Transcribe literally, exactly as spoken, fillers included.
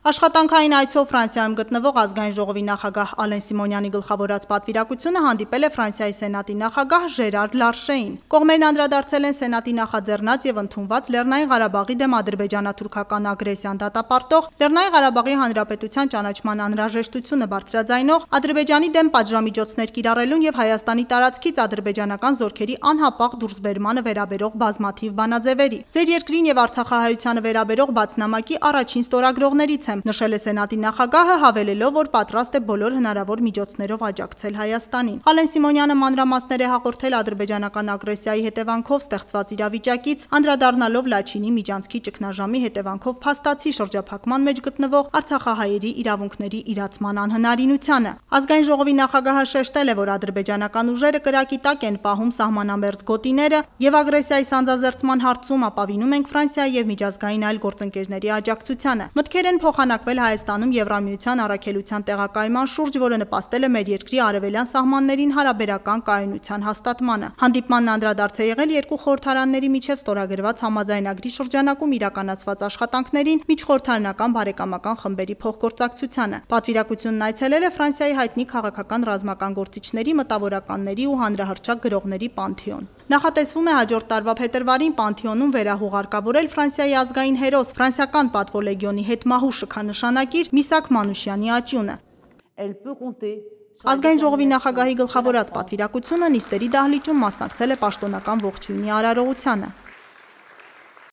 Աշխատանքային այցով Ֆրանսիայում գտնվող ազգային ժողովի նախագահ Ալեն Սիմոնյանի գլխավորած պատվիրակությունը հանդիպել է Ֆրանսիայի Սենատի նախագահ Ժերար Լարշեին։ Կողմերն անդրադարձել են Սենատի նախաձեռնած եւ ընդունված Լեռնային Ղարաբաղի դեմ ադրբեջանա-թուրքական ագրեսիան դատապարտող Լեռնային Ղարաբաղի Հանրապետության ճանաչման անհրաժեշտությունը բարձրաձայնող Ադրբեջանի դեմ պատժամիջոցներ կիրառելուն եւ Հայաստանի տարածքից ադրբեջանական զորքերի անհապաղ դուրսբերմանը վերաբերող բազմաթիվ բանաձևերի։ Ձեր երկրին եւ Արցախահայությանը վերաբերող բացնամակի առաջին ստորագրողներից նշել է Սենատի նախագահը, հավելելով, որ պատրաստ է բոլոր հնարավոր միջոցներով աջակցել Հայաստանին։ Ալեն Սիմոնյանը մանրամասներ է հաղորդել ադրբեջանական ագրեսիայի հետևանքով ստեղծված իրավիճակից, անդրադառնալով Լաչինի միջանցքի ճգնաժամի հետևանքով փաստացի շրջափակման մեջ գտնվող արցախահայերի իրավունքների իրացման անհնարինությանը։ Ազգային ժողովի նախագահը շեշտել է, որ ադրբեջանական ուժերը կրակի տակ են պահում սահմանամերձ գոտիները եւ ագրեսիայի սանձազերծման հարցում ապավինում ենք Ֆրանսիայի եւ միջազգային այլ գործընկերների աջակցությանը։ Մտքեր են փոխանակվել Հայաստանում Եվրամիության առաքելության տեղակայման շուրջ, որը նպաստել է մեր երկրի արևելյան սահմաններին հարաբերական կայունության հաստատմանը։ Հանդիպմանն անդրադարձ է եղել երկու խորհրդարանների միջև ստորագրված համաձայնագրի շրջանակում իրականացված աշխատանքներին միջխորհրդարանական բարեկամական խմբերի փոխգործակցությանը։ Պատվիրակությունն այցելել է Ֆրանսիայի հայտնի քաղաքական ռազմական գործիչների, մտավորականների ու հանրահռչակ գրողների պանթեոն։ Նախատեսվում է հաջորդ տարվա փետրվարին Պանթեոնում վերահուղարկավորել Ֆրանսիայի ազգային հերոս, ֆրանսիական պատվո լեգիոնի հետմահու շքանշանակիր Միսակ Մանուշյանի աճյունը։ Ազգային ժողովի նախագահի գլխավորած պատվիրակությունը նիստերի դահլիճում մասնակցել է պաշտոնական ողջույնի արարողությանը։